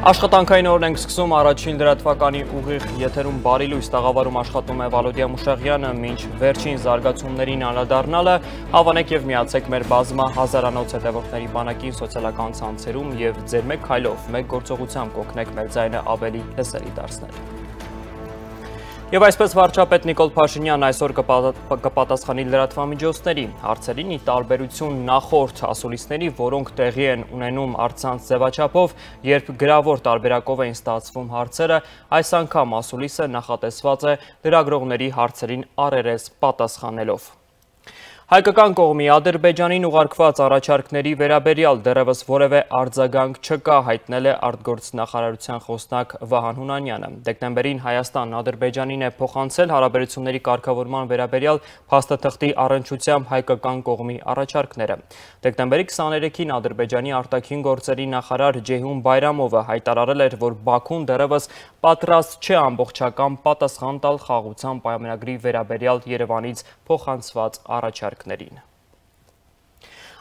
Աշխատանքային օրն ենք սկսում առաջին լրատվականի ուղիղ եթերում բարի լույս տաղավարում աշխատում է Վալոդիա Մուշեղյանը, մինչ վերջին զարգացումներին անդրադառնալը հավանեք եւ միացեք մեր բազմա հազարանոց հետևորդների բանակին սոցիալական ցանցերում եւ ձեր մեկ քայլով, մեկ գործողությամբ կօգնեք մեր ձայնը ավելի լսելի դարձնել։ Եվ այսպես վարչապետ Նիկոլ Փաշինյանն այսօր կպատասխանի լրատվամիջոցների հարցերին ի տարբերություն նախորդ ասուլիսների, որոնք տեղի են ունենում առցանց ձևաչափով, երբ գրավոր տարբերակով էին ստացվում հարցերը, այս անգամ ասուլիսը նախատեսված է լրագրողների հարցերին առերես պատասխանելով։ Հայկական կողմի Ադրբեջանին ուղարկված առաջարկների վերաբերյալ դեռևս որևէ արձագանք չկա, հայտնել է արտգործնախարարության խոսնակ Վահան Հունանյանը։ Դեկտեմբերին Հայաստանն Ադրբեջանին է փոխանցել հարաբերությունների կարգավորման վերաբերյալ փաստաթղթի առնչությամբ հայկական կողմի առաջարկները։ Դեկտեմբերի 23-ին Ադրբեջանի արտաքին գործերի նախարար Ջեյհուն Բայրամովը հայտարարել էր, որ Բաքուն դեռևս պատրաստ չէ ամբողջական պատասխան տալ խաղաղության պայմանագրի վերաբերյալ Երևանից փոխանցված առաջարկներին։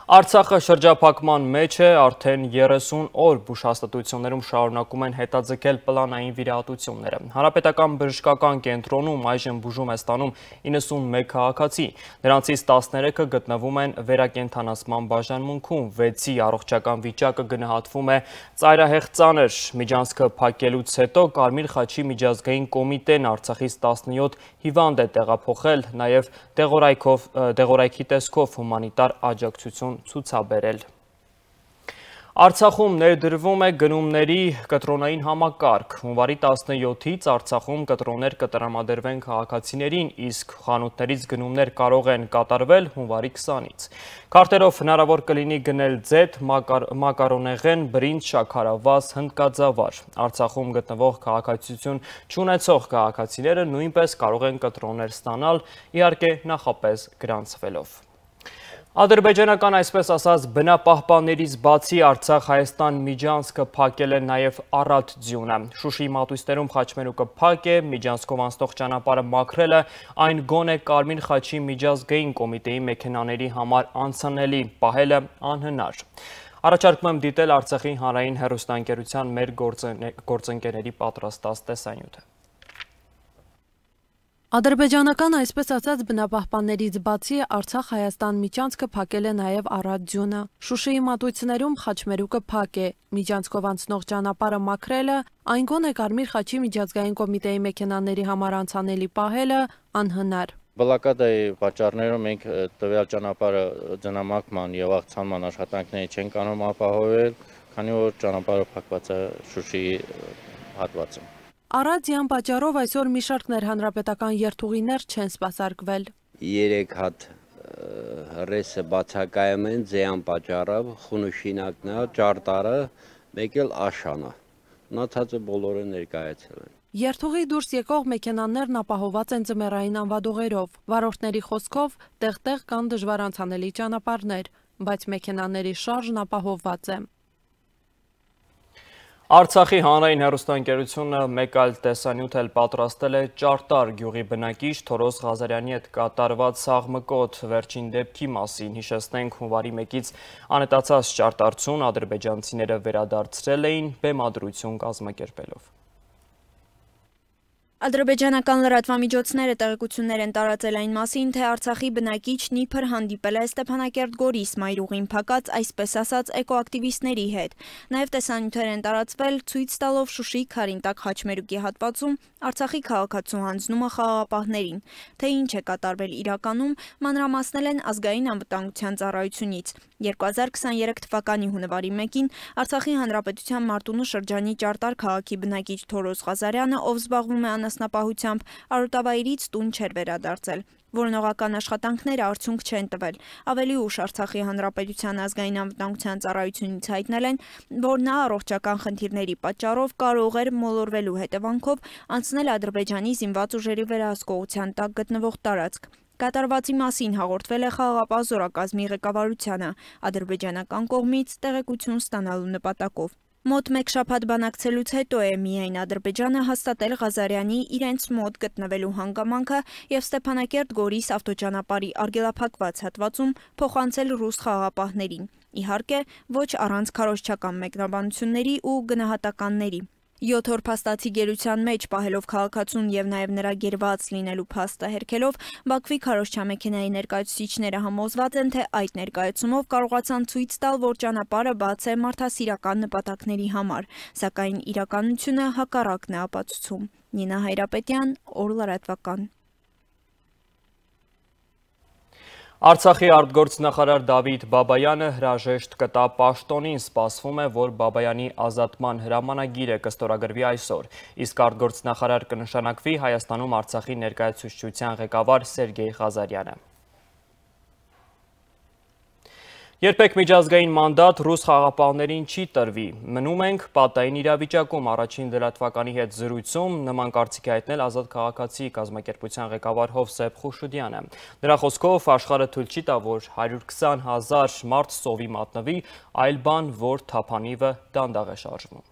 Արցախը շրջափակման մեջ է, արդեն 30 օր բուժհաստատություններում շարունակում են հետաձգել պլանային վիրահատությունները։ Հանրապետական բժշկական կենտրոնում այժմ բուժում է ստանում 91 քաղաքացի, նրանցից 13-ը գտնվում են վերակենդանացման բաժանմունքում, 6-ի առողջական վիճակը գնահատվում է ծայրահեղ ծանր։ Միջանցքը փակելուց հետո Կարմիր խաչի միջազգային կոմիտեն Արցախից 17 հիվանդ է տեղափոխել, նաև դեղորայքի տեսքով հումանիտար աջակցություն ցուցաբերել։ Արցախում ներդրվում է գնումների կտրոնային համակարգ։ Հունվարի 17-ից Արցախում կտրոններ կտրամադրվեն քաղաքացիներին, իսկ խանութներից գնումներ կարող են կատարվել հունվարի 20-ից։ Քարտերով հնարավոր կլինի գնել ձեթ, մակարոնեղեն, բրինձ, շաքարավազ, հնդկաձավար։ Արցախում գտնվող քաղաքացիություն չունեցող քաղաքացիները նույնպես կարող են կտրոններ ստանալ, իհարկե նախապես գրանցվելով։ Ադրբեջանական այսպես ասած բնապահպաններից բացի Արցախ-Հայաստան միջանցքը փակել է նաև Արադ ձյունը։ Շուշիի մատույցներում խաչմերուկը փակ է, միջանցքով անցնող ճանապարհը մաքրելը այն գոնե Կարմիր խաչի միջազգային կոմիտեի մեքենաների համար անցանելի պահելը անհնար։ Առաջարկում եմ դիտել Արցախի հանրային հեռուստաընկերության մեր գործընկերների պատրաստած տեսանյութը։ Ադրբեջանական այսպես ասած բնապահպաններից բացի Արցախ-Հայաստան միջանցքը փակել է նաև Արադ ձյունը։ Շուշիի մատույցներում խաչմերուկը փակ է, միջանցքով անցնող ճանապարհը մաքրելը, այն գոնե Կարմիր խաչի միջազգային կոմիտեի մեքենաների համար անցանելի պահելը անհնար։ Բլոկադայի պատճառներով մենք տվյալ ճանապարհը ձնամաքման եւ աղցանման աշխատանքների չենք կարող ապահովել, քանի որ ճանապարհը փակված է Շուշիի հատվածում։ Արադյան պատճառով այսօր մի շարք ներհանրապետական երթուղիներ չեն սպասարկվել։ 3 հատ ռեսը բացակայում են ձեան պատճառով, խունուշինակն է, ճարտարը, մեկ էլ աշանը։ Մնացածը բոլորը ներկայացել են։ Երթուղի դուրս եկող մեքենաներն ապահոված են ձմեռային անվադողերով։ Վարորդների խոսքով տեղ-տեղ կան դժվար անցանելի ճանապարհներ, բայց մեքենաների շարժն ապահովված է։ Արցախի հանրային հեռուստաընկերությունը մեկ այլ տեսանյութ էլ պատրաստել է Ճարտար գյուղի բնակիչ Թորոս Ղազարյանի հետ կատարված սաղմկոտ վերջին դեպքի մասին։ Հիշեցնենք, հունվարի 1-ից անհետացած ճարտարցուն ադրբեջանցիները վերադարձրել էին բեմադրություն կազմակերպելով։ Ադրբեջանական լրատվամիջոցները տեղեկություններ են տարածել այն մասին, թե Արցախի բնակիչն իբր հանդիպել է Ստեփանակերտ-Գորիս մայրուղին փակած այսպես ասած էկոակտիվիստների հետ։ Նաև տեսանյութեր են տարածվել ցույց տալով Շուշիի Քարինտակ խաչմերուկի հատվածում Արցախի քաղաքացու հանձնումը խաղաղապահներին։ Թե ինչ է կատարվել իրականում, մանրամասնել են ազգային անվտանգության ծառայությունից։ 2023 թվականի հունվարի 1-ին Արցախի հանրապետության Մարտունու շրջանի Ճարտար քաղաքի բնակիչ Թորոս Ղազարյանը, ով զբաղվում է անասնապահությամբ, արոտավայրից տուն չէր վերադարձել։ Որոնողական աշխատանքները արդյունք չեն տվել։ Ավելի ուշ Արցախի հանրապետության ազգային անվտանգության ծառայությունից հայտնել են, որ նա առողջական խնդիրների պատճառով կարող էր մոլորվելու հետևանքով անցնել Ադրբեջանի զինված ուժերի վերահսկողության տակ գտնվող տարածք։ Կատարվածի մասին հաղորդվել է խաղաղապահ զորակազմի ղեկավարությանը ադրբեջանական կողմից տեղեկություն ստանալու նպատակով։ Մոտ մեկ շաբաթ բանակցելուց հետո է միայն Ադրբեջանը հաստատել Ղազարյանի իրենց մոտ գտնվելու հանգամանքը եւ Ստեփանակերտ-Գորիս ավտոճանապարհի արգելափակված հատվածում փոխանցել ռուս խաղաղապահներին։ Իհարկե, ոչ առանց քարոզչական մեկնաբանությունների ու գնահատականների։ 7 օր փաստացի գերության մեջ պահելով քաղաքացուն եւ նաեւ նրա գերված լինելու փաստը հերքելով, Բաքվի քարոզչամեքենայի ներկայացուցիչները համոզված են, թե այդ ներկայացումով կարողացան ցույց տալ, որ ճանապարհը բաց է մարդասիրական նպատակների համար, սակայն իրականությունը հակառակն է ապացուցում։ Նինա Հայրապետյան, Օր լրատվական։ Արցախի արտգործնախարար Դավիթ Բաբայանը հրաժեշտ կտա պաշտոնին, սպասվում է, որ Բաբայանի ազատման հրամանագիրը կստորագրվի այսօր, իսկ արտգործնախարար կնշանակվի Հայաստանում Արցախի ներկայացուցչության ղեկավար Սերգեյ Ղազարյանը։ Երբեք միջազգային մանդատ ռուս խաղապահներին չի տրվի, մնում ենք պատային իրավիճակում, առաջին լրատվականի հետ զրույցում նման կարծիք է հայտնել Ազատ քաղաքացի կազմակերպության ղեկավար Հովսեփ Խուշուդյանը։ Նրա խոսքով աշխարհը թույլ չի տա, որ 120,000 մարդ սովի մատնվի, այլ բան, որ թափանիվը դանդաղ է շարժվում։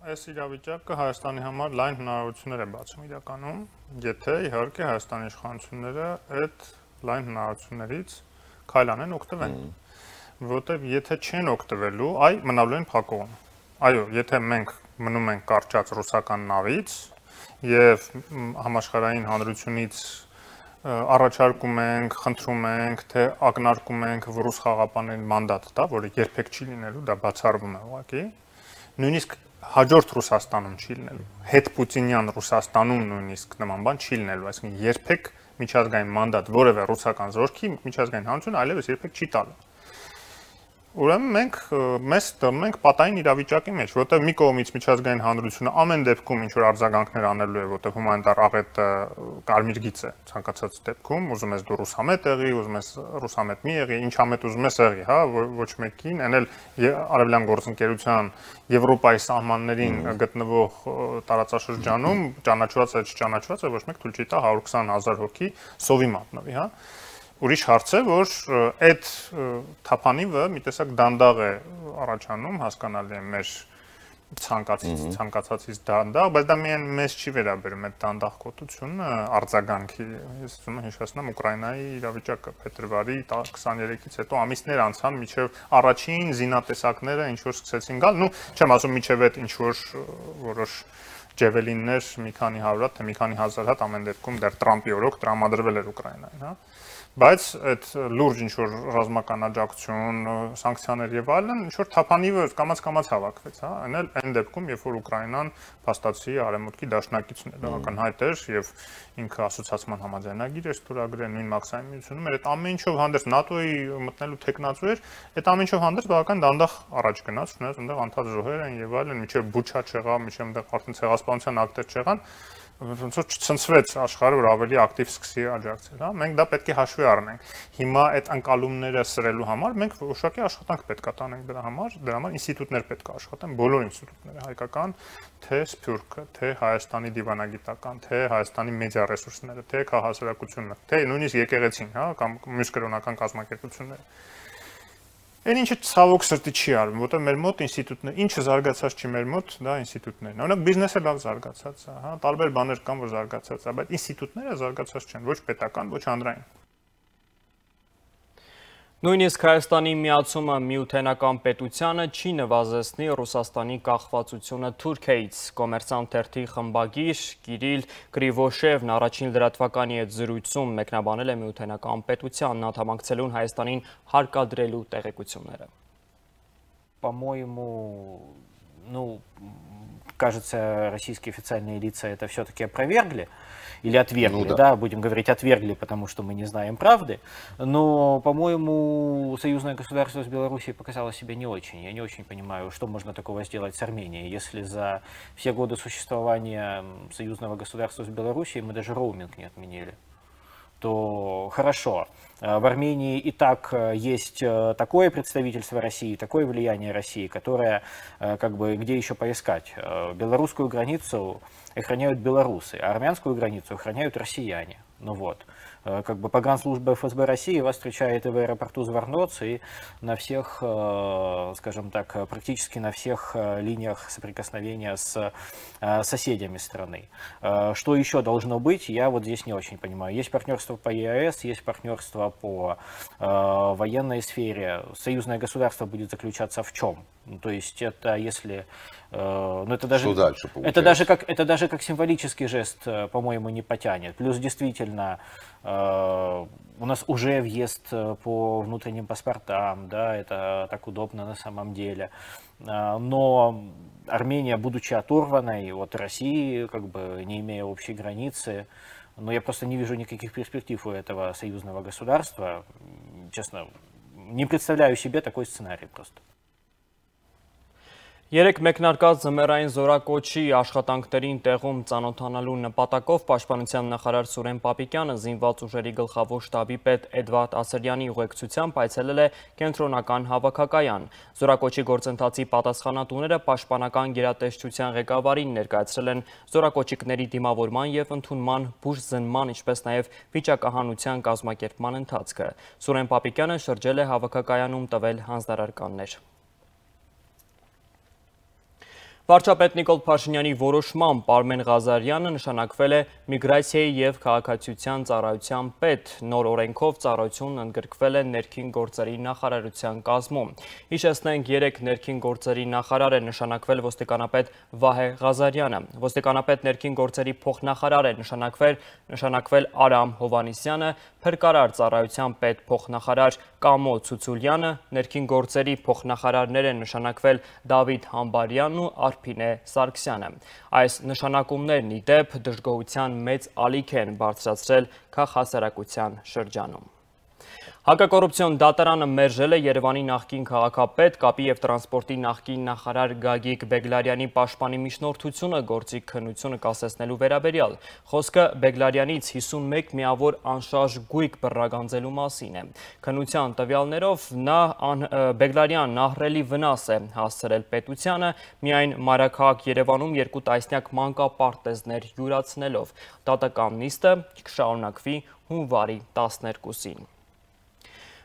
Այս իրավիճակը Հայաստանի համար լայն հնարավորություններ է բացում իրականում, եթե իհարկե Հայաստանի իշխանությունները այդ լայն հնարավորություններից քայլ անեն օգտվեն, որտեղ եթե չեն օգտվելու, մնալու են փակողում։ Այո, եթե մենք մնում ենք կարճած ռուսական նավից եւ համաշխարհային հանրությունից առաջարկում ենք, խնդրում ենք, թե ակնարկում ենք ռուս խաղապաններին մանդատ տա, որը երբեք չի լինելու, դա բացառվում է ուղղակի, նույնիսկ հաջորդ Ռուսաստանում չի լինելու, հետ պուտինյան Ռուսաստանում նույնիսկ նման բան չի լինելու, այսինքն երբեք միջազգային մանդատ որևէ ռուսական զորքի միջազգային հանրություն այլևս երբեք չի տալու։ Ուրեմն մենք մեզ դնում ենք պատային իրավիճակի մեջ, որտեղ մի կողմից միջազգային հանրությունը ամեն դեպքում ինչ որ արձագանքներ անելու է, որտեղ հումանիտար աղետը կարմիր գիծ է ցանկացած դեպքում, ուզում ես դու ռուսամետ եղի, ուզում ես ռուսամետ մի եղի, ինչ ամետ ուզում ես եղի, հա, ոչ մեկին, այն էլ արևելյան գործընկերության Եվրոպայի սահմաններին գտնվող տարածաշրջանում ճանաչված է, չճանաչված է, ոչ մեկ թույլ չի տա 120,000 հոգի սովի մատնվի, հա։ Ուրիշ հարց է, որ այդ թափանիվը մի տեսակ դանդաղ է առաջանում, հասկանալի է մեր ցանկացածից դանդաղ, բայց դա միայն մեզ չի վերաբերում այդ դանդաղկոտությունը արձագանքի։ Ես ուզում եմ հիշեցնեմ Ուկրաինայի իրավիճակը փետրվարի 23-ից հետո ամիսներ անցան, մինչև առաջին զինատեսակները ինչ որ սկսեցին գալ, չեմ ասում մինչև այդ ինչ որ որոշ ջևելիններ մի քանի հարյուր հատ, թե մի քանի հազար հատ ամեն դեպքում դեռ Տրամպի օրոք տրամադրվել էր Ուկրաինային, հա։ Բայց այդ լուրջ ինչ որ ռազմական աջակցություն, սանկցիաներ եւ այլն, ինչ որ թափանիվը կամաց հավաքվեց, հա, այն դեպքում, երբ որ Ուկրաինան փաստացի արևմուտքի դաշնակիցն է, բավական հայտ էր եւ ինքը ասոցիացիան համաձայնագիր էր ստորագրել նույն մաքսային միությունում, այդ ամեն ինչով հանդերձ ՆԱՏՕ-ի մտնելու տեխնացու էր, այդ ամեն ինչով հանդերձ բավական դանդաղ առաջ գնաց, ունես այնտեղ անդադ զոհեր են եւ այլն, միջև Բուչա չեղավ, միջև այնտեղ արդեն ցեղասպանության ակտեր չեղան, ոնց որ չցնցվեց աշխարհը, որ ավելի ակտիվ սկսի աջակցել, հա, մենք դա պետք է հաշվի առնենք։ Հիմա այդ անկալումները սրելու համար մենք որոշակի աշխատանք պետք է տանենք դրա համար ինստիտուտներ պետք է աշխատեն, բոլոր ինստիտուտները, հայկական, թե Սփյուռքը, թե Հայաստանի դիվանագիտական, թե Հայաստանի մեդիա ռեսուրսները, թե քաղաքասարակությունը, թե նույնիսկ եկեղեցին, հա, կամ մյուս կրոնական կազմակերպությունները։ Այն ինչը ցավոք սրտի չի արվում, որտեղ մեր մոտ ինստիտուտներ, ինչը զարգացած չի մեր մոտ, դա ինստիտուտներն են։ Օրինակ բիզնեսը լավ զարգացած է, հա, տարբեր բաներ կան, որ զարգացած է, բայց ինստիտուտները զարգացած չեն, ոչ պետական, ոչ հանրային։ Նույնիսկ Հայաստանի միացումը միութենական պետությանը չի նվազեցնի Ռուսաստանի կախվածությունը Թուրքիայից։ Կոմերսանտ թերթի խմբագիր Կիրիլ Կրիվոշևն առաջին լրատվականի հետ զրույցում մեկնաբանել է միութենական պետությանն անդամակցելուն Հայաստանին հարկադրելու տեղեկությունները։ По-моему, кажется, российские официальные лица это все-таки опровергли. Или отвергли, да, будем говорить отвергли, потому что мы не знаем правды. Но, по-моему, союзное государство с Белоруссией показало себя не очень. Я не очень понимаю, что можно такого сделать с Арменией, если за все годы существования союзного государства с Белоруссией мы даже роуминг не отменили. То хорошо. В Армении и так есть такое представительство России, такое влияние России, которое, как бы, где еще поискать. Белорусскую границу охраняют белорусы, а армянскую границу охраняют россияне. Ну вот. как бы погранслужба ФСБ России вас встречает и в аэропорту Зварноц, и на всех, скажем так, практически на всех линиях соприкосновения с соседями страны. Что еще должно быть, я вот здесь не очень понимаю. Есть партнерство по ЕАЭС, есть партнерство по военной сфере. Союзное государство будет заключаться в чем? То есть это если... Ну, это даже, что дальше получается? Это даже как символический жест, по-моему, не потянет. Плюс действительно у нас уже въезд по внутренним паспортам, да, это так удобно на самом деле. Но Армения, будучи оторванной от России, как бы не имея общей границы, но я просто не вижу никаких перспектив у этого союзного государства. Честно, не представляю себе такой сценарий просто. Երեք մեկնարկած ձմեռային զորակոչի աշխատանքներին տեղում ծանոթանալու նպատակով Պաշտպանության նախարար Սուրեն Պապիկյանը զինված ուժերի գլխավոր շտաբի պետ Էդվարդ Ասրյանի ուղեկցությամբ այցելել է կենտրոնական հավաքակայան։ Զորակոչի գործընթացի պատասխանատուները Պաշտպանական գերատեսչության ղեկավարին ներկայացրել են զորակոչիկների դիմավորման և ընդունման բուժզնման, ինչպես նաև վիճակահանության կազմակերպման ընթացքը։ Սուրեն Պապիկյանը շրջել է հավաքակայանում տվել հանձնարարականներ։ Վարչապետ Նիկոլ Փաշինյանի որոշմամբ Արմեն Ղազարյանը նշանակվել է միգրացիայի և քաղաքացիության ծառայության պետ, նոր օրենքով ծառայությունն ընդգրկվել է ներքին գործերի նախարարության կազմում։ Հիշեցնենք, երեք ներքին գործերի նախարար է նշանակվել ոստիկանապետ Վահե Ղազարյանը, ոստիկանապետ ներքին գործերի փոխնախարար է նշանակվել Արամ Հովհաննիսյանը, փրկարար ծառայության պետ փոխնախարար Կամո Ցուցուլյանը, ներքին գործերի փոխնախարարներ են նշանակվել Դավիթ Համբարյանն ու Արփինե Սարգսյանը։ Այս նշանակումներն ի դեպ դժգոհության մեծ ալիք են բարձրացրել քաղաքասարակության շրջանում։ Հակակոռուպցիոն դատարանը մերժել է Երևանի նախկին քաղաքապետ, կապի և տրանսպորտի նախկին նախարար Գագիկ Բեգլարյանի պաշտպանի միջնորդությունը գործի քննությունը կասեցնելու վերաբերյալ։ Խոսքը Բեգլարյանից 51 միավոր անշարժ գույք բռնագանձելու մասին է։ Քննության տվյալներով Բեգլարյանն ահռելի վնաս է հասցրել պետությանը, միայն մայրաքաղաք Երևանում 2 տասնյակ մանկապարտեզներ յուրացնելով։ Դատական նիստը կշարունակվի հունվարի 12-ին։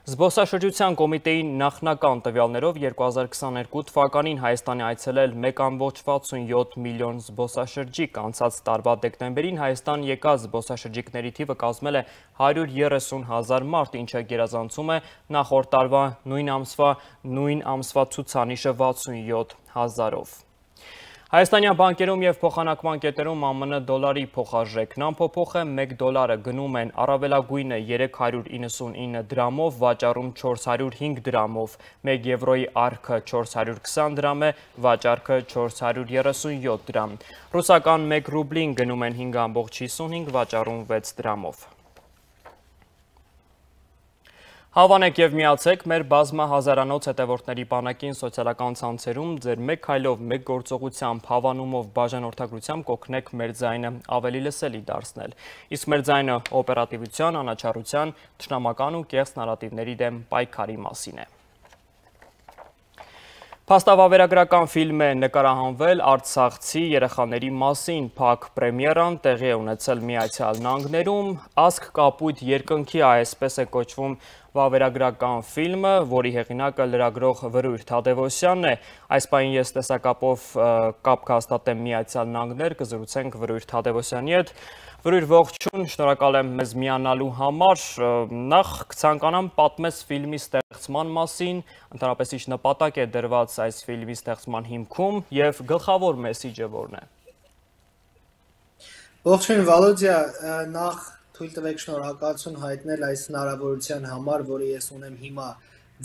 Զբոսաշրջության կոմիտեի նախնական տվյալներով 2022 թվականին Հայաստանի այցելել 1,67 միլիոն զբոսաշրջիկ, անցած տարվա դեկտեմբերին Հայաստան եկած զբոսաշրջիկների թիվը կազմել է 130,000 մարդ, ինչը գերազանցում է նախորդ տարվա նույն ամսվա ցուցանիշը 67,000-ով։ Հայաստանյան բանկերում և փոխանակման կետերում ԱՄՆ դոլարի փոխարժեքն անփոփոխ է, 1 դոլարը գնում են առավելագույնը 399 դրամով, վաճառում 405 դրամով, 1 եվրոյի արքը 420 դրամ է, վաճառքը 437 դրամ։ Ռուսական 1 ռուբլին գնում են 5,55, վաճառում 6 դրամով։ Հավանեք և միացեք մեր բազմահազարանոց հետևորդների բանակին սոցիալական ցանցերում ձեր մեկ քայլով, մեկ գործողությամբ, հավանումով, բաժանորդագրությամբ կօգնեք մեր ձայնը ավելի լսելի դարձնել։ Իսկ մեր ձայնը օպերատիվության, անաչառության, թշնամական ու կեղծ նարատիվների դեմ պայքարի մասին է։ Փաստավավերագրական ֆիլմ է նկարահանվել արցախցի երեխաների մասին, փակ պրեմիերան տեղի է ունեցել Միացյալ Նահանգներում, Ասք կապույտ երկնքի այսպես է կոչվում վավերագրական ֆիլմը, որի հեղինակը լրագրող Վրույր Թադևոսյանն է։ Այս պահին ես տեսակապով կապ կհաստատեմ Միացյալ Նահանգներ, կզրուցենք Վրույր Թադևոսյանի հետ։ Վրույր, ողջույն, շնորհակալ եմ մեզ միանալու համար։ Նախ կցանկանամ պատմես ֆիլմի ստեղծման մասին, ընդհանրապես ինչ նպատակ է դրված այս ֆիլմի ստեղծման հիմքում և գլխավոր մեսիջը որն է։ Ողջույն Վալոդիա, նախ թույլ տվեք շնորհակալություն հայտնել այս հնարավորության համար, որը ես ունեմ հիմա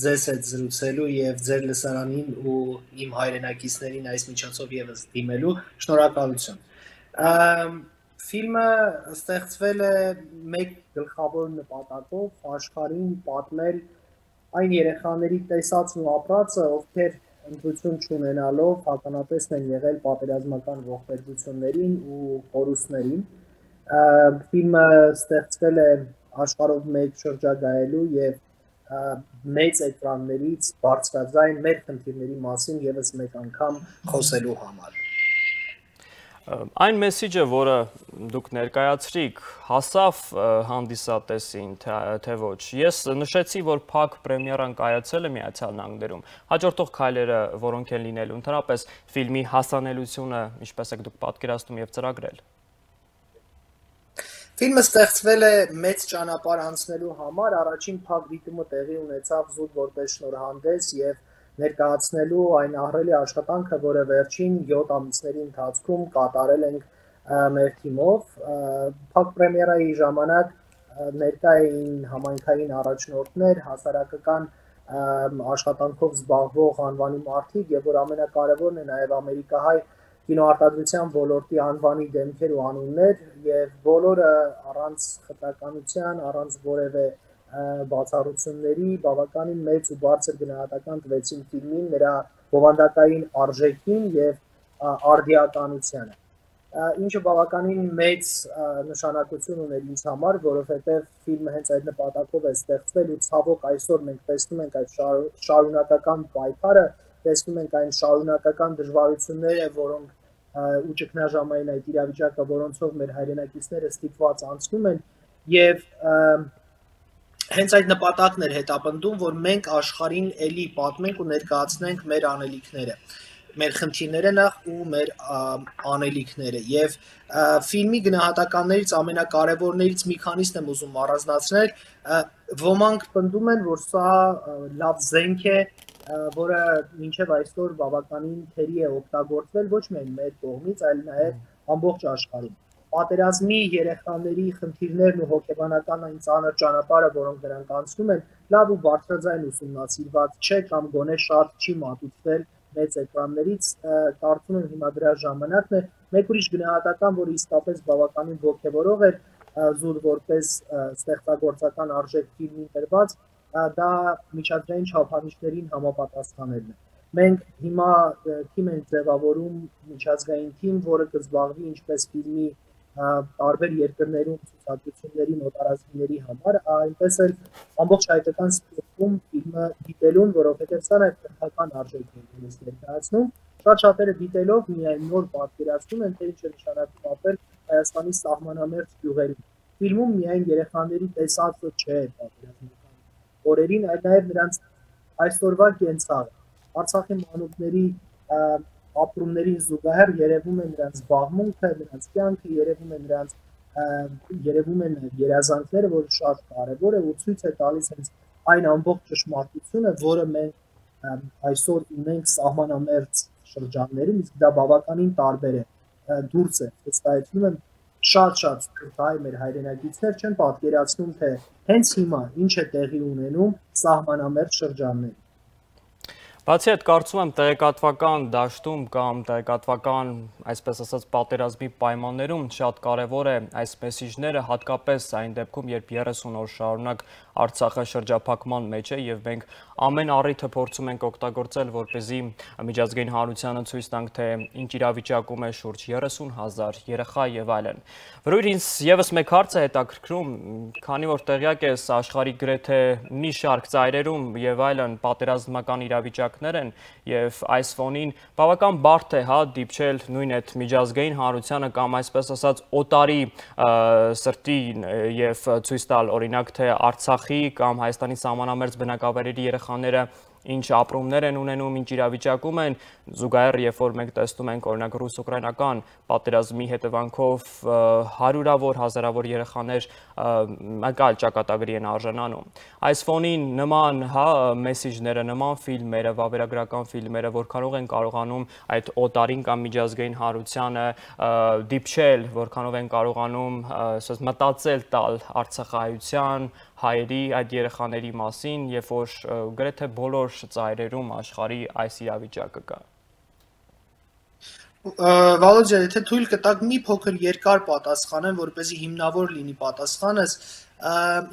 ձեզ հետ զրուցելու և ձեր լսարանին ու իմ հայրենակիցներին այս միջոցով ևս դիմելու, շնորհակալություն։ Ֆիլմը ստեղծվել է մեկ գլխավոր նպատակով աշխարհին պատմել այն երեխաների տեսածն ու ապրածը, ովքեր ընտրություն չունենալով ականատեսն են եղել պատերազմական ողբերգություններին ու կորուստներին։ Ֆիլմը ստեղծվել է աշխարհով մեկ շրջագայելու եւ մեծ էկրաններից բարձրաձայն մեր խնդիրների մասին եւս մեկ անգամ խոսելու համար։ Այն մեսիջը, որը դուք ներկայացրիք, հասավ հանդիսատեսին, թե ոչ։ Ես նշեցի, որ փակ պրեմիերան կայացել է Միացյալ Նահանգներում։ Հաջորդող քայլերը որոնք են լինելու, ընդհանրապես ֆիլմի հասանելիությունը, ինչպես եք դուք պատկերացնում եւ ծրագրել։ Ֆիլմը ստեղծվել է մեծ ճանապարհ անցնելու համար, առաջին փակ դիտումը տեղի ունեցավ զուտ որպես շնորհանդես եւ ներկայացնելու այն ահռելի աշխատանքը, որը վերջին 7 ամիսների ընթացքում կատարել ենք մեր թիմով։ Փակ պրեմիերայի ժամանակ ներկա էին համայնքային առաջնորդներ, հասարակական աշխատանքով զբաղվող անվանի մարդիկ եւ որ ամենակարևորն է նաեւ ամերիկահայ կինոարտադրության ոլորտի անվանի դեմքեր ու անուններ եւ բոլորը առանց խտրականության, առանց որևէ բացառությունների բավականին մեծ ու բարձր գնահատական տվեցին ֆիլմին, նրա բովանդակային արժեքին եւ արդիականությանը։ Ինչը բավականին մեծ նշանակություն ուներ ինձ համար, որովհետեւ ֆիլմը հենց այդ նպատակով է ստեղծվել ու ցավոք այսօր մենք տեսնում ենք այդ շարունակական պայքարը, տեսնում ենք այն շարունակական դժվարությունները, որոնք ու ճգնաժամային այդ իրավիճակը, որոնցով մեր հայրենակիցները ստիպված անցնում են եւ հենց այդ նպատակն էր հետապնդում, որ մենք աշխարհին էլի պատմենք ու ներկայացնենք մեր անելիքները, մեր խնդիրները նախ ու մեր անելիքները եւ ֆիլմի գնահատականներից ամենակարևորներից մի քանիսն եմ ուզում առանձնացնել, ոմանք պնդում են, որ սա լավ զենք է, որը մինչև այսօր բավականին թերի է օգտագործվել ոչ միայն մեր կողմից, այլ նաև ամբողջ աշխարհում։ Պատերազմի երեխաների խնդիրներն ու հոգեբանական այն ծանր ճանապարհը, որոնք նրանք անցնում են, լավ ու բարձրաձայն ուսումնասիրված չէ կամ գոնե շատ չի մատուցվել մեծ էկրաններից, կարծում եմ հիմա դրա ժամանակն է։ Մեկ ուրիշ գնահատական, որը իսկապես բավականին ոգևորող էր, զուտ որպես ստեղծագործական արժեք ֆիլմին տրված, դա միջազգային չափանիշներին համապատասխանելն է։ Մենք հիմա թիմ ենք ձևավորում միջազգային թիմ, որը կզբաղվի ինչպես ֆիլմի տարբեր երկրներում ցուցադրությունների նոտարազգիների համար, այնպես էլ ամբողջ հայկական սպորտում ֆիլմը դիտելուն, որովհետև սա նաև քրթական արժեք է ներկայացնում։ Շատ շատերը դիտելով միայն նոր պատկերացնում են, թե ինչ է նշանակում ապրել Հայաստանի սահմանամերձ գյուղերում։ Ֆիլմում միայն երեխաների տեսածը չէ պատկերացնում օրերին, այլ նաև նրանց այսօրվա կենցաղը։ Արցախի մանուկների ապրումներին զուգահեռ երևում է նրանց զբաղմունքը, նրանց կյանքը, երևում են երազանքները, որը շատ կարևոր է ու ցույց է տալիս հենց այն ամբողջ ճշմարտությունը, որը մենք այսօր ունենք սահմանամերձ շրջաններում, իսկ դա բավականին տարբեր է, դուրս է, վստահեցնում եմ շատ հայ մեր հայրենակիցներ չեն պատկերացնում, թե հենց հիմա ինչ է տեղի ունենում սահմանամերձ շրջաններում։ Բացի այդ, կարծում եմ տեղեկատվական դաշտում կամ տեղեկատվական, այսպես ասած, պատերազմի պայմաններում շատ կարևոր է այս մեսիջները, հատկապես այն դեպքում, երբ 30 օր շարունակ Արցախը շրջափակման մեջ է եւ մենք ամեն առիթը փորձում ենք օգտագործել, որպեսզի միջազգային հանրությանը ցույց տանք, թե ինչ իրավիճակում է շուրջ 30,000 երեխա եւ այլն։ Որովհետեւ ինձ եւս մեկ հարց է հետաքրքրում, քանի որ տեղյակ ես աշխարհի գրեթե մի շարք ծայրերում եւ այլն պատերազմական իրավիճակներ են եւ այս ֆոնին բավական բարդ է, հա, դիպչել նույն այդ միջազգային հանրությանը կամ այսպես ասած օտարի սրտին եւ ցույց տալ օրինակ թե Արցախի կամ Հայաստանի սահմանամերձ բնակավայրերի երեխաները ինչ ապրումներ են ունենում, ինչ իրավիճակում են, զուգահեռ երբ որ մենք տեսնում ենք օրինակ ռուս-ուկրաինական պատերազմի հետևանքով հարյուրավոր, հազարավոր երեխաներ մեկ այլ ճակատագրի են արժանանում։ Այս ֆոնին նման մեսիջները, նման ֆիլմերը, վավերագրական ֆիլմերը, որքանով են կարողանում այդ օտարին կամ միջազգային հանրությանը դիպչել, որքանով են կարողանում մտածել տալ արցախահայության, հայերի, այդ երեխաների մասին, երբ որ գրեթե բոլոր ծայրերում աշխարհի այս իրավիճակը կա։ Վալոդիա, եթե թույլ կտաք մի փոքր երկար պատասխանեմ, որպեսզի հիմնավոր լինի պատասխանս,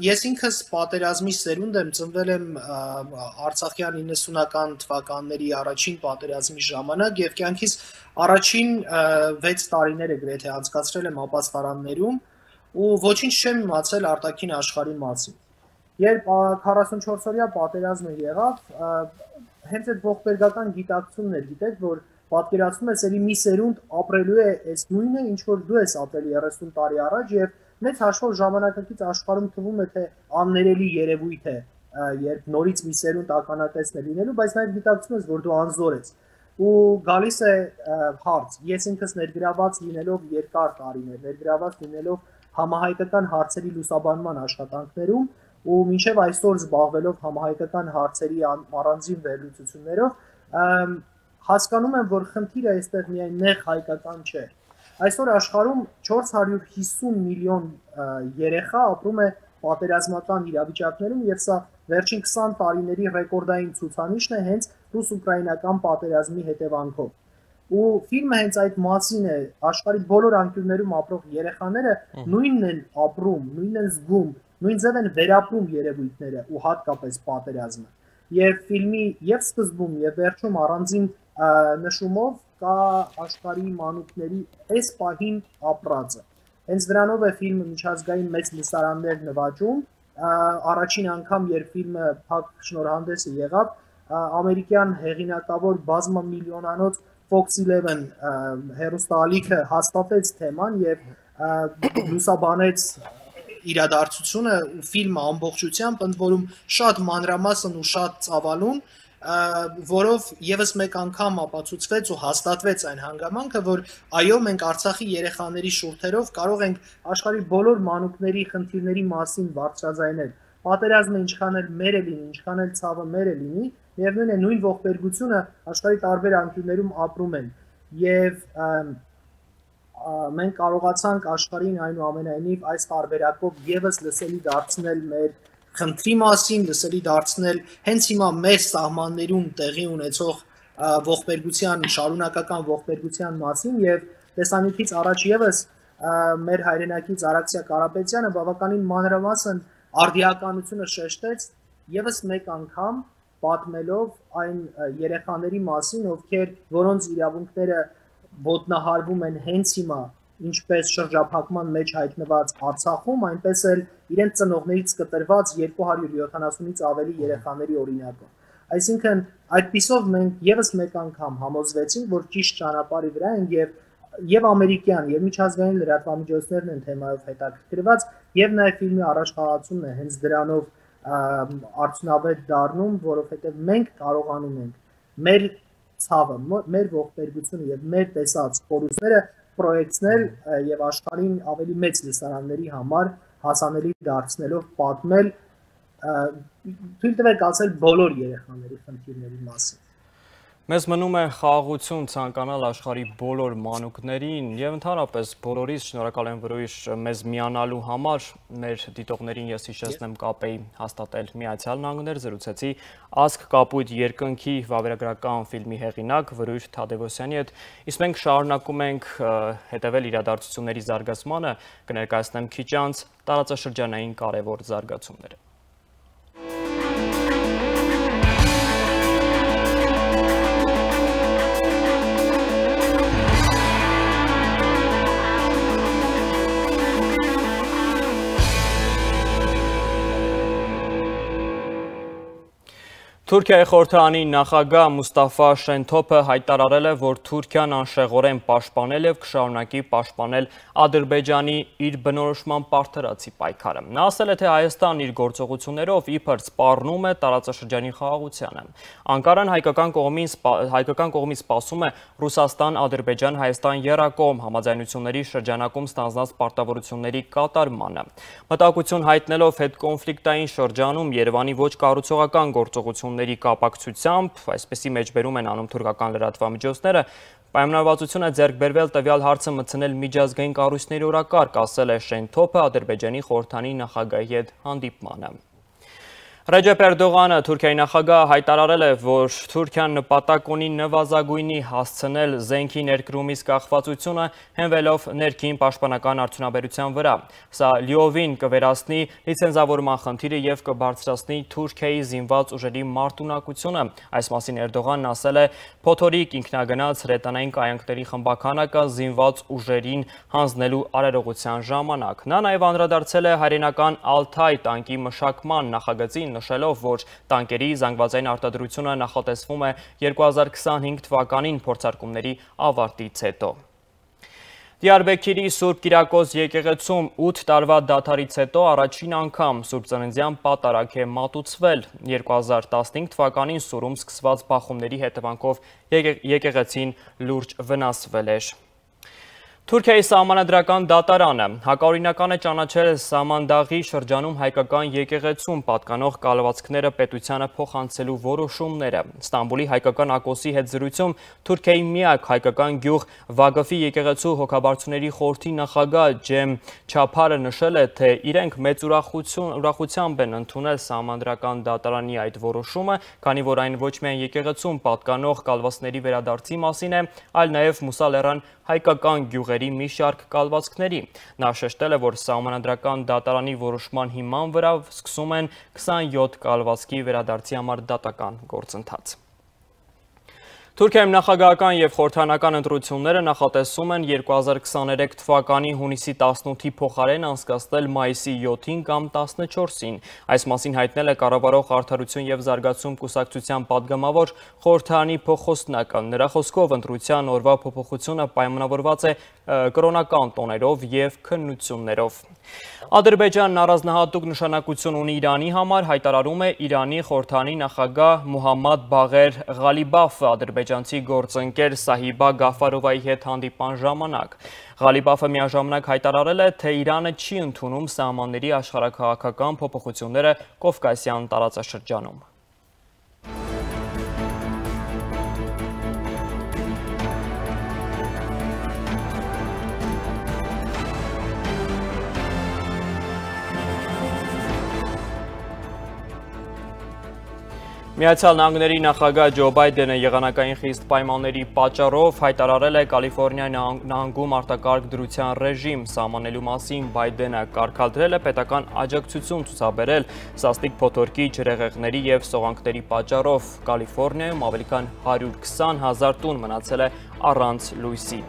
ես ինքս պատերազմի սերունդ եմ, ծնվել եմ Արցախյան 90-ական թվականների առաջին պատերազմի ժամանակ եւ կյանքիս առաջին 6 տարիները գրեթե անցկացրել եմ ապաստարաններում ու ոչինչ չեմ իմացել արտաքին աշխարհի մասին։ Երբ 44-օրյա պատերազմը եղավ, հենց այդ ողբերգական գիտակցումն էր, գիտեք, որ պատկերացնում ես, ելի մի սերունդ ապրելու է այս նույնը, ինչ որ դու ես ապրել 30 տարի առաջ եւ մեծ հաշվով ժամանակակից աշխարհում թվում է թե աններելի երևույթ է, երբ նորից մի սերունդ ականատեսն է լինելու, բայց նաեւ գիտակցում ես, որ դու անզոր ես։ Ու գալիս է հարց, ես ինքս ներգրաված լինելով երկար տարիներ, ներգրաված լինելով համահայկական հարցերի լուսաբանման աշխատանքներում ու մինչև այսօր զբաղվելով համահայկական հարցերի առանձին վերլուծություններով, հասկանում եմ, որ խնդիրը այստեղ միայն նեղ հայկական չէ։ Այսօր աշխարհում 450 միլիոն երեխա ապրում է պատերազմական իրավիճակներում եւ սա վերջին 20 տարիների ռեկորդային ցուցանիշն է հենց ռուս-ուկրաինական պատերազմի հետևանքով։ Ու ֆիլմը հենց այդ մասին է, աշխարհի բոլոր անկյուններում ապրող երեխաները նույնն են ապրում, նույնն են զգում, նույն ձև են վերապրում երևույթները ու հատկապես պատերազմը։ Եվ ֆիլմի եւ սկզբում եւ վերջում առանձին նշումով կա աշխարհի մանուկների այս պահին ապրածը։ Հենց դրանով է ֆիլմը միջազգային մեծ լսարաններ նվաճում, առաջին անգամ երբ ֆիլմը փակ շնորհանդեսը եղավ, ամերիկյան հեղինակավոր բազմամիլիոնանոց Fox 11 հեռուստաալիքը հաստատեց թեման եւ լուսաբանեց իրադարձությունը ու ֆիլմը ամբողջությամբ, ընդ որում շատ մանրամասն ու շատ ծավալուն, որով եւս մեկ անգամ ապացուցվեց ու հաստատվեց այն հանգամանքը, որ այո, մենք Արցախի երեխաների շուրթերով կարող ենք աշխարհի բոլոր մանուկների խնդիրների մասին բարձրաձայնել։ Պատերազմը ինչքան էլ մեր է լինի, ինչքան էլ ցավը մեր է լինի, միևնույն է նույն ողբերգությունը աշխարհի տարբեր անկյուններում ապրում են։ Եվ մենք կարողացանք աշխարհին այնուամենայնիվ այս տարբերակով եւս լսելի դարձնել մեր խնդրի մասին, լսելի դարձնել հենց հիմա մեր սահմաններում տեղի ունեցող ողբերգության, շարունակական ողբերգության մասին եւ տեսանյութից առաջ եւս մեր հայրենակից Արաքսիա Կարապետյանը բավականին մանրամասն արդիականությունը շեշտեց եւս մեկ անգամ պատմելով այն երեխաների մասին, որոնց իրավունքները ոտնահարվում են հենց հիմա, ինչպես շրջափակման մեջ հայտնված Արցախում, այնպես էլ իրենց ծնողներից կտրված 270-ից ավելի երեխաների օրինակով։ Այսինքն, այդպիսով մենք եւս մեկ անգամ համոզվեցինք, որ ճիշտ ճանապարհի վրա ենք եւ ամերիկյան եւ միջազգային լրատվամիջոցներն են թեմայով հետաքրքրված եւ նաեւ ֆիլմի առաջխաղացումն է հենց դրանով արդյունավետ դառնում, որովհետեւ մենք կարողանում ենք մեր ցավը, մեր ողբերգությունը եւ մեր տեսած կորուստները պրոյեկցնել եւ աշխարհին ավելի մեծ լսարանների համար հասանելի դարձնելով պատմել, թույլ տվեք ասել բոլոր երեխաների խնդիրների մասին։ Մեզ մնում է խաղաղություն ցանկանալ աշխարհի բոլոր մանուկներին եւ ընդհանրապես բոլորիս շնորհակալ եմ որոշ մեզ միանալու համար։ Մեր դիտողներին ես հիշեցնեմ կապ էի հաստատել Միացյալ Նահանգներ, զրուցեցի Ազգ կապույտ երկնքի վավերագրական ֆիլմի հեղինակ Վրույժ Թադևոսյանի հետ։ Իսկ մենք շարունակում ենք հետևել իրադարձությունների զարգացմանը, կներկայացնեմ քիչ անց տարածաշրջանային կարևոր զարգացումները։ Թուրքիայի խորհրդարանի նախագահ Մուստաֆա Շենթոփը հայտարարել է, որ Թուրքիան անշեղորեն պաշտպանել եւ կշարունակի պաշտպանել Ադրբեջանի իր բնորոշման պարտադրանքի պայքարը։ Նա ասել է, թե Հայաստանն իր գործողություններով իբր սպառնում է տարածաշրջանի խաղաղությանը։ Անկարան հայկական կողմից սպասում է Ռուսաստան-Ադրբեջան-Հայաստան եռակողմ համաձայնությունների շրջանակում ստանձնած պարտավորությունների կատարմանը։ Մտահոգություն հայտնելով հետկոնֆլիկտային շրջանում Երևանի ոչ կառուցողական գործողությունների կապակցությամբ, այսպեսի մեջբերում են անում թուրքական լրատվամիջոցները, պայմանավորվածություն է ձեռք բերվել տվյալ հարցը մտցնել միջազգային կառույցների օրակարգ, ասել է Շենթոփը Ադրբեջանի խորհրդարանի նախագահի հետ հանդիպմանը։ Ռեջեփ Էրդողանը, Թուրքիայի նախագահը, հայտարարել է, որ Թուրքիան նպատակ ունի նվազագույնի հասցնել զենքի ներկրումից կախվածությունը, հենվելով ներքին պաշտպանական արդյունաբերության վրա։ Սա լիովին կվերացնի լիցենզավորման խնդիրը եւ կբարձրացնի Թուրքիայի զինված ուժերի մարտունակությունը։ Այս մասին Էրդողանն ասել է, փոթորիկ ինքնագնաց հրետանային կայանքների խմբականակը զինված ուժերին հանձնելու արարողության ժամանակ։ Նա նաեւ անդրադարձել է հայրենական Ալթայ տանկի մշակման նախագծին, նշելով, որ տանկերի զանգվածային արտադրությունը նախատեսվում է 2025 թվականին փորձարկումների ավարտից հետո։ Դիարբեքիրի Սուրբ Կիրակոս եկեղեցում 8 տարվա դադարից հետո առաջին անգամ Սուրբ Ծննդյան պատարագ է մատուցվել։ 2015 թվականին Սուրում սկսված բախումների հետևանքով եկեղեցին լուրջ վնասվել էր։ Թուրքիայի սահմանադրական դատարանը հակաօրինական է ճանաչել Սամանդաղի շրջանում հայկական եկեղեցում պատկանող կալվածքները պետությանը փոխանցելու որոշումները։ Ստամբուլի հայկական ակոսի հետ զրույցում Թուրքիայի միակ հայկական գյուղ Վագաֆի եկեղեցու հոգաբարձուների խորհրդի նախագահ Ջեմ Չափարը նշել է, թե իրենք մեծ ուրախությամբ են ընդունել սահմանադրական դատարանի այդ որոշումը, քանի որ այն ոչ միայն եկեղեցում պատկանող կալվածքների վերադարձի մասին է, այլ նաև Մուսալերան հայկական գյուղերի մի շարք կալվածքների։ Նա շեշտել է, որ սահմանադրական դատարանի որոշման հիման վրա սկսում են 27 կալվածքի վերադարձի համար դատական գործընթաց։ Թուրքիայում նախագահական և խորհրդարանական ընտրությունները նախատեսում են 2023 թվականի հունիսի 18-ի փոխարեն անցկացնել մայիսի 7-ին կամ 14-ին։ Այս մասին հայտնել է Կառավարող արդարություն և զարգացում կուսակցության պատգամավոր խորհրդարանի փոխխոսնակը։ Նրա խոսքով ընտրության օրվա փոփոխությունը պայմանավորված է կրոնական տոներով և քննություններով։ Ադրբեջանն առանձնահատուկ նշանակություն ունի Իրանի համար, հայտարարում է Իրանի խորհրդարանի նախագահ Մուհամմադ Բաղեր Ղալիբաֆը ադրբեջանցի գործընկեր Սահիբա Գաֆարովայի հետ հանդիպման ժամանակ։ Ղալիբաֆը միաժամանակ հայտարարել է, թե Իրանը չի ընդունում սահմանների աշխարհաքաղաքական փոփոխությունները Կովկասյան տարածաշրջանում։ Միացյալ Նահանգների նախագահ Ջո Բայդենը եղանակային խիստ պայմանների պատճառով հայտարարել է Կալիֆոռնիա նահանգում արտակարգ դրության ռեժիմ սահմանելու մասին։ Բայդենը կարգադրել է պետական աջակցություն ցուցաբերել սաստիկ փոթորկի, ջրհեղեղների և սողանքների պատճառով։ Կալիֆոռնիայում ավելի քան 120,000 տուն մնացել է առանց լույսի։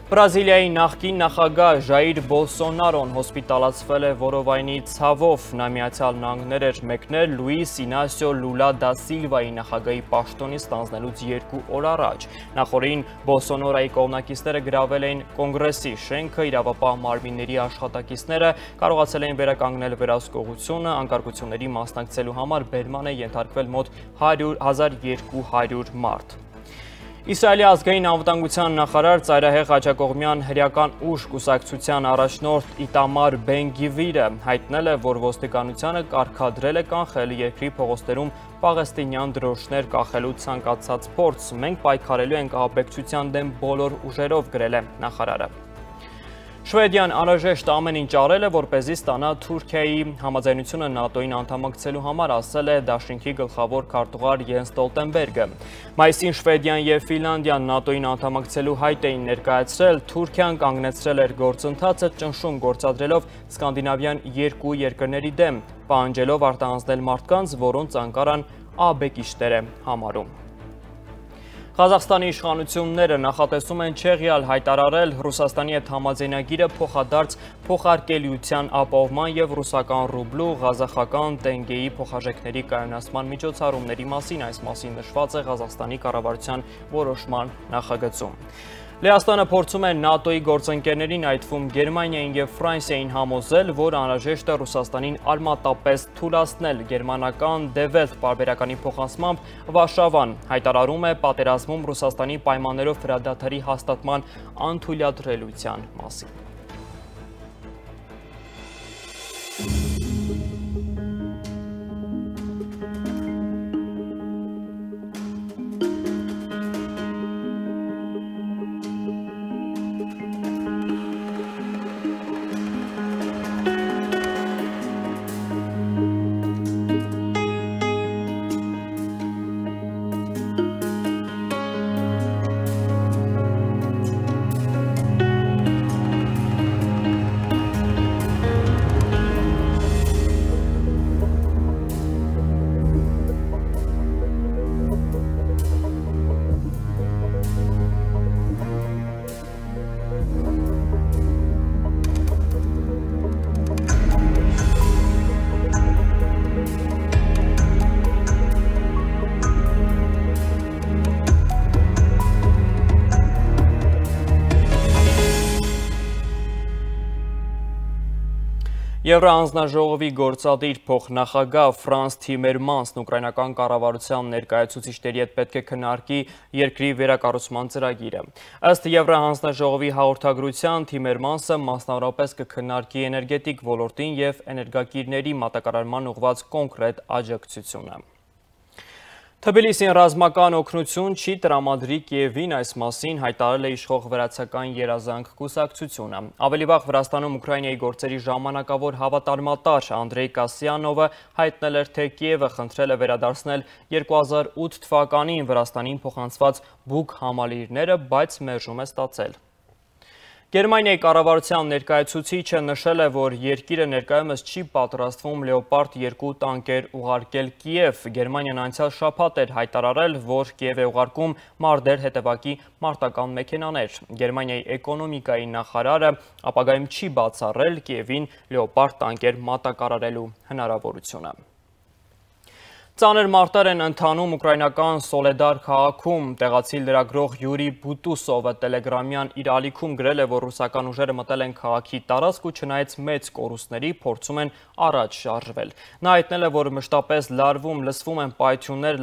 Բրազիլիայի նախկին նախագահ Ժայիր Բոլսոնարոն հոսպիտալացվել է որովայնի ցավով։ Նա Միացյալ Նահանգներ էր մեկնել Լուիս Ինասիո Լուլա դա Սիլվայի նախագահի պաշտոնից ստանձնելուց 2 օր առաջ։ Նախորդին Բոլսոնարոյի կողմնակիցները գրավել էին Կոնգրեսի շենքը, իրավապահ մարմինների աշխատակիցները կարողացել էին վերականգնել վերահսկողությունը, անկարգությունների մասնակցելու համար բերման է ենթարկվել մոտ 1200 մարդ։ Իսրայելի ազգային անվտանգության նախարար ծայրահեղ աջակողմյան հրեական ուժ կուսակցության առաջնորդ Իտամար Բեն Գվիրը հայտնել է, որ ոստիկանությանը կարգադրել է կանխել երկրի փողոցներում պաղեստինյան դրոշներ կախելու ցանկացած փորձ։ Մենք պայքարելու ենք ահաբեկչության դեմ բոլոր ուժերով, գրել է նախարարը։ Շվեդիան անհրաժեշտ ամեն ինչ արել է, որպեսզի ստանա Թուրքիայի համաձայնությունը ՆԱՏՕ-ին անդամակցելու համար, ասել է դաշինքի գլխավոր քարտուղար Յենս Ստոլտենբերգը։ Մայիսին Շվեդիան և Ֆինլանդիան ՆԱՏՕ-ին անդամակցելու հայտ էին ներկայացրել, Թուրքիան կանգնեցրել էր գործընթացը, ճնշում գործադրելով սկանդինավյան 2 երկրների դեմ, պահանջելով արտահանձնել մարդկանց, որոնց Անկարան ահաբեկիչներ է համարում։ Ղազախստանի իշխանությունները նախատեսում են չեղյալ հայտարարել Ռուսաստանի հետ համաձայնագիրը փոխադարձ փոխարկելիության ապահովման և ռուսական ռուբլու ղազախական տենգեի փոխարժեքների կայունացման միջոցառումների մասին, այս մասին նշված է Ղազախստանի կառավարության որոշման նախագծում։ Լեհաստանը փորձում է ՆԱՏՕ-ի գործընկերներին, այդ թվում Գերմանիային և Ֆրանսիային համոզել, որ անհրաժեշտ է Ռուսաստանին արմատապես թուլացնել։ Գերմանական Der Welt պարբերականի փոխանցմամբ Վարշավան հայտարարում է պատերազմում Ռուսաստանի պայմաններով հրադադարի հաստատման անթույլատրելիության մասին։ Եվրահանձնաժողովի գործադիր փոխնախագահ Ֆրանս Թիմերմանսն ուկրաինական կառավարության ներկայացուցիչների հետ պետք է քննարկի երկրի վերակառուցման ծրագիրը։ Ըստ Եվրահանձնաժողովի հաղորդագրության Թիմերմանսը մասնավորապես կքննարկի էներգետիկ ոլորտին և էներգակիրների մատակարարման ուղղված կոնկրետ աջակցությունը։ Թբիլիսին ռազմական օգնություն չի տրամադրի Կիևին, այս մասին հայտարարել է իշխող վրացական երազանք կուսակցությունը։ Ավելի վաղ Վրաստանում Ուկրաինայի գործերի ժամանակավոր հավատարմատար Անդրեյ Կասյանովը հայտնել էր, թե Կիևը խնդրել է վերադարձնել 2008 թվականին Վրաստանին փոխանցված բուկ համալիրները, բայց մերժում է ստացել։ Գերմանիայի կառավարության ներկայացուցիչը նշել է, որ երկիրը ներկայումս չի պատրաստվում Լեոպարդ 2 տանկեր ուղարկել Կիև։ Գերմանիան անցյալ շաբաթ էր հայտարարել, որ Կիև է ուղարկում Մարդեր հետևակի մարտական մեքենաներ։ Գերմանիայի էկոնոմիկայի նախարարը ապագայում չի բացառել Կիևին Լեոպարդ տանկեր մատակարարելու հնարավորությունը։ Ծանր մարտեր են ընթանում ուկրաինական Սոլեդար քաղաքում։ Տեղացի լրագրող Յուրի Բուտուսովը տելեգրամյան իր ալիքում գրել է, որ ռուսական ուժերը մտել են քաղաքի տարածք ու չնայած մեծ կորուստների փորձում են առաջ շարժվել։ Նա հայտնել է, որ մշտապես լսվում են պայթյուններ,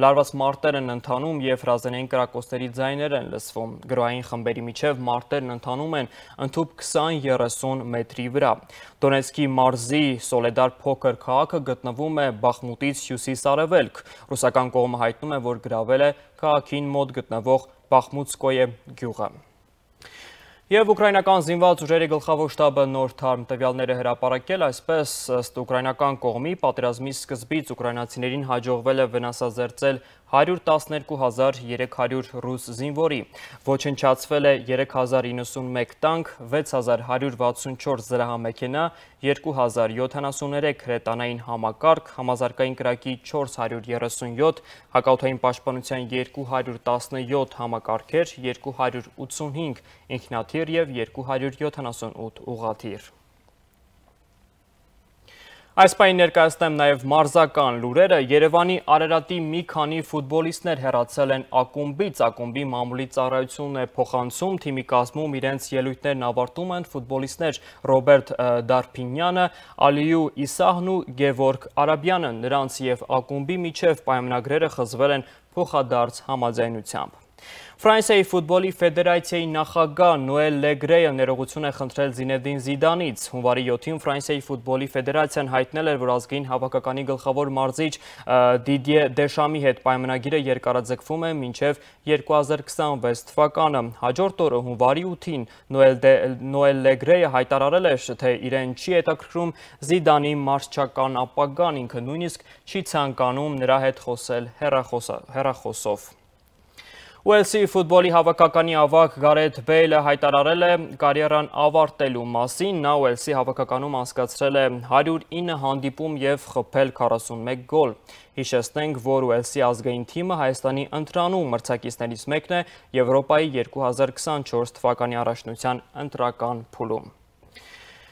լարված մարտեր են ընթանում և հրազենային կրակոցների ձայներ են լսվում։ Գրոհային խմբերի միջև մարտերն ընթանում են ընդհուպ 20-30 մետրի վրա։ Դոնեցկի մարզի Սոլեդար փոքր քաղաքը գտնվում է Բախմուտից հյուսիս-արևելք։ Ռուսական կողմը հայտնում է, որ գրավել է քաղաքին մոտ գտնվող Բախմուտսկոյե գյուղը։ Եվ ուկրաինական զինված ուժերի գլխավոր շտաբը նոր թարմ տվյալներ է հրապարակել, այսպես ըստ ուկրաինական կողմի պատերազմի սկզբից ուկրաինացիներին հաջողվել է վնասազերծել 112,300 ռուս զինվորի, ոչնչացվել է 3091 տանկ, 6164 զրահամեքենա, 2073 հրետանային համակարգ, համազարգային կրակի 437, հակաօդային պաշտպանության 217 համակարգեր, 285 ինքնաթիռ և 278 ուղղաթիռ։ Այս պահին ներկայացնեմ նաև մարզական լուրերը։ Երևանի Արարատի մի քանի ֆուտբոլիստներ հեռացել են ակումբից։ Ակումբի մամուլի ծառայությունն է փոխանցում, թիմի կազմում իրենց ելույթներն ավարտում են ֆուտբոլիստներ Ռոբերտ Դարփինյանը, Ալիու Իսահն ու Գևորգ Արաբյանը։ Նրանց և ակումբի միջև պայմանագրերը խզվել են փոխադարձ համաձայնությամբ։ Ֆրանսիայի ֆուտբոլի ֆեդերացիայի նախագահ Նոել Լեգրեյը ներողություն է խնդրել Զինեդին Զիդանից։ Հունվարի 7-ին Ֆրանսիայի ֆուտբոլի ֆեդերացիան հայտնել էր, որ ազգային հավաքականի գլխավոր մարզիչ Դիդիե Դեշամի հետ պայմանագիրը երկարաձգվում է մինչև 2026 թվականը։ Հաջորդ օրը հունվարի 8-ին Նոել Լեգրեյը հայտարարել էր, թե իրեն չի հետաքրքրում Զիդանի մարզչական ապագան, ինքը նույնիսկ չի ցանկանում նրա հետ խոսել հեռախոսով։ Ուելսի ֆուտբոլի հավաքականի ավագ Գարեթ Բեյլը հայտարարել է կարիերան ավարտելու մասին։ Նա Ուելսի հավաքականում անցկացրել է 109 հանդիպում և խփել 41 գոլ։ Հիշեցնենք, որ Ուելսի ազգային թիմը Հայաստանի ընտրանու մրցակիցներից մեկն է Եվրոպայի 2024 թվականի առաջնության ընտրական փուլում։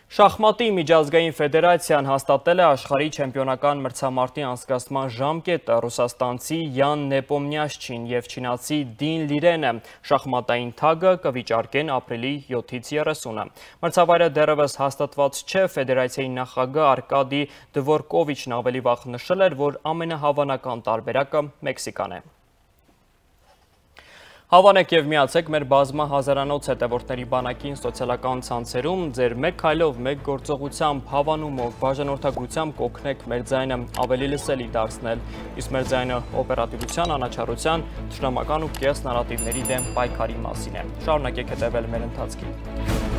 Շախմատի միջազգային ֆեդերացիան հաստատել է աշխարհի չեմպիոնական մրցամարտի անցկացման ժամկետը։ Ռուսաստանցի Յան Նեպոմնյաշչին և չինացի Դին Լիրենը շախմատային թագը կվիճարկեն ապրիլի 7-ից 30-ը։ Մրցավայրը դեռևս հաստատված չէ, ֆեդերացիայի նախագահ Արկադի Դվորկովիչն ավելի վաղ նշել էր, որ ամենահավանական տարբերակը Մեքսիկան է։ Հավանեք և միացեք մեր բազմա հազարանոց հետևորդների բանակին սոցիալական ցանցերում, ձեր մեկ քայլով, մեկ գործողությամբ, հավանումով, բաժանորդագրությամբ կօգնեք մեր ձայնը ավելի լսելի դարձնել, իսկ մեր ձայնը օպերատիվության, անաչառության, թշնամական ու կեղծ նարատիվների դեմ պայքարի մասին է։ Շարունակեք հետևել մեր ընթացքին։